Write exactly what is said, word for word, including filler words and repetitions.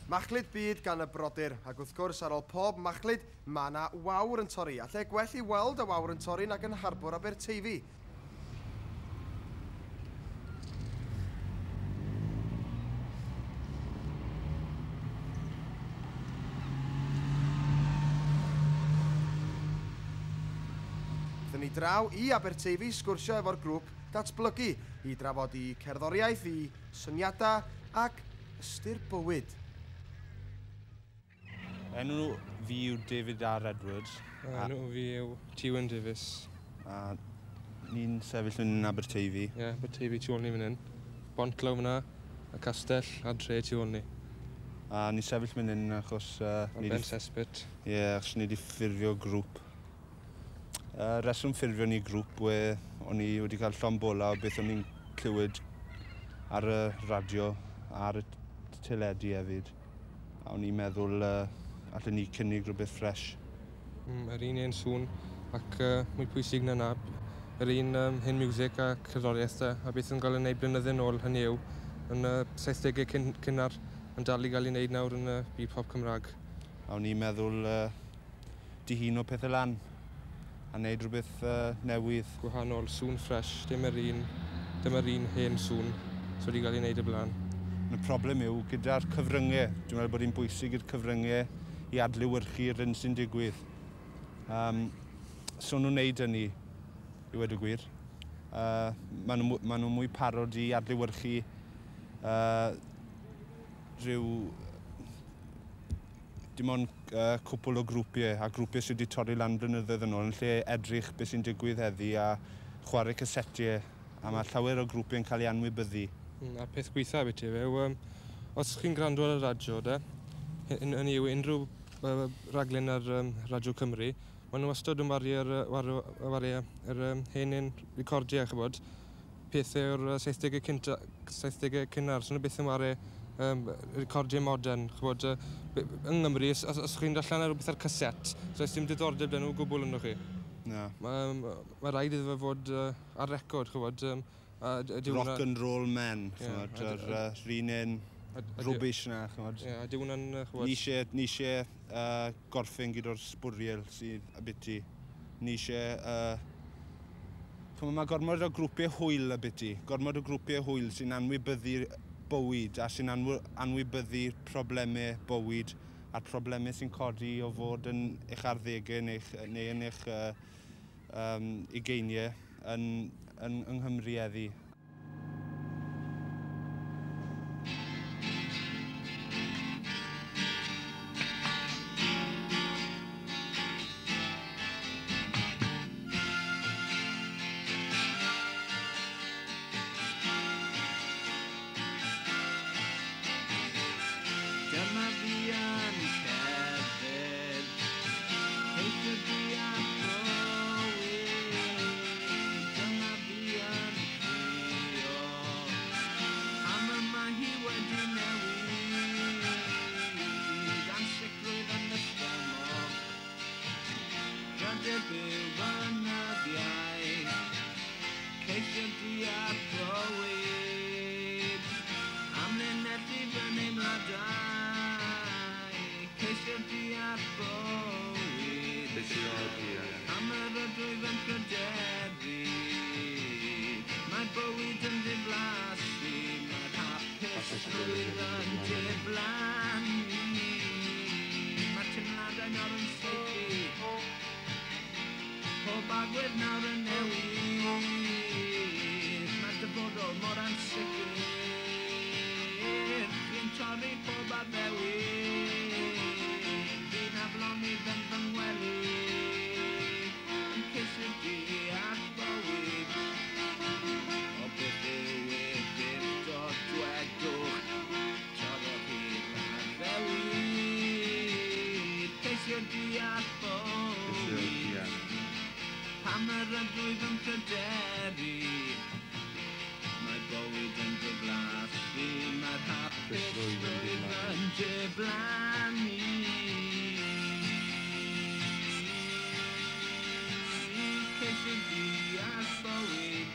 Machlud byd gan y brodyr, ac wrth gwrs ar ôl pob machlud, mae yna wawr yn torri, a lle gwell i weld y wawr yn torri nag yn harbwr Aberteifi. Dyn ni draw i Aberteifi sgwrsio efo'r grŵp Datblygu i drafod i cerddoriaeth, i syniadau ac ystyr bywyd. Enw fi yw David R. Edwards. A enw fi yw Tywyn Davies. A ni'n sefyll yn Aberteifi. Ie, yeah, Aberteifi tu ôl ni fan hyn. Bont lawr fyna, y castell a dre tu ôl ni. A ni'n sefyll fan hyn achos... Uh, a Ben Cesspit. Ie, yeah, achos ni wedi ffurfio grŵp. Uh, reswm ffurfio ni grŵp we o'n i wedi cael llond bola o beth o'n i'n clywed ar y radio, ar y teledu hefyd. A o'n i'n meddwl uh, allen ni cynnig rhywbeth ffres. Mm, yr un un sŵn ac uh, mwy pwysig na na, yr un um, hyn music a cerddoriaeth da, a beth yn cael ei wneud blynydde nôl, hynny yw, yn y uh, saithdegau cyn, cynnar yn dal i gael ei wneud nawr yn y uh, byd pop Cymraeg. A o'n i'n meddwl uh, dihuno pethau lan a wneud rhywbeth uh, newydd. Gwahanol, sŵn ffres, dim yr un, dim yr un hen sŵn sydd wedi cael ei wneud y blaen. Y problem yw gyda'r cyfryngau. Dwi'n meddwl bod hi'n bwysig i'r cyfryngau i adlewyrchu'r hyn sy'n digwydd. Um, so nhw'n wneud hynny, i wedi gwir. Uh, maen nhw, maen nhw mwy parod i adlewyrchu uh, rhyw... Dim ond uh, cwpl o grwpiau, a grwpiau sydd wedi torri lan blynyddoedd yn ôl, yn lle edrych beth sy'n digwydd heddi a chwarae casetiau, a mae llawer o grwpiau yn cael ei anwybyddu. Mm, a'r peth gweitha beth yw, um, os chi'n gwrando ar y radio, de, hynny yw unrhyw uh, raglen ar um, Radio Cymru, maen nhw wastad yn wario yr, yr um, hen un recordiau, chybod, pethau o'r saithdegau cynta, saithdegau cynnar, so nhw byth yn wario um, recordiau modern, chybod, uh, yng Nghymru, os, os chi'n darllen ar rhywbeth ar caset, so oes dim diddordeb 'da nhw o gwbl ynddo chi. Na. Mae ma, ma rhaid iddo fe fod uh, ar record, chybod. Um, a, a Rock and roll men, chybod, yr un un rubbish na, chybod. Ie, a dyw hwnna'n, chybod... Ni eisiau, ni eisiau uh, gorffen gyda'r sbwriel sydd abyti. Ni eisiau... Uh, chybod, mae gormod o grwpiau hwyl abyti. Gormod o grwpiau hwyl sy'n anwybyddu bywyd a sy'n anwybyddu problemau bywyd a'r problemau sy'n codi o fod yn eich arddegau neu, neu yn eich uh, um, ugeiniau yn, yn, yng Nghymru heddi. Dyma fi yn cerdded, ceisio deall bywyd. Dyma fi yn crio, pam y mae hi wedi newid. Ansicrwydd yn y stumog, pryder byw yn y ddiau, ceisio deall bywyd. Amlinellu fy neimladau, ceisio deall bywyd. Am yr ydwyf yn pryderu, mae bywyd yn diflasu, mae'r hapusrwydd yn diflannu. Mae teimladau nawr yn saethu, pob agwedd nawr yn newid. Mae'r dyfodol mor ansicr, chi'n torri pob addewid. Fi'n aflonydd yn fy ngwely, yn ceisio deall bywyd. O beth yw eglurdod, dwedwch, torrodd hi'r addewid. Ceisio deall bywyd, pam yr ydwyf yn pryderu. Mae bywyd yn diflasu, mae'r hapusrwydd yn diflannu. Ceisio deall bywyd.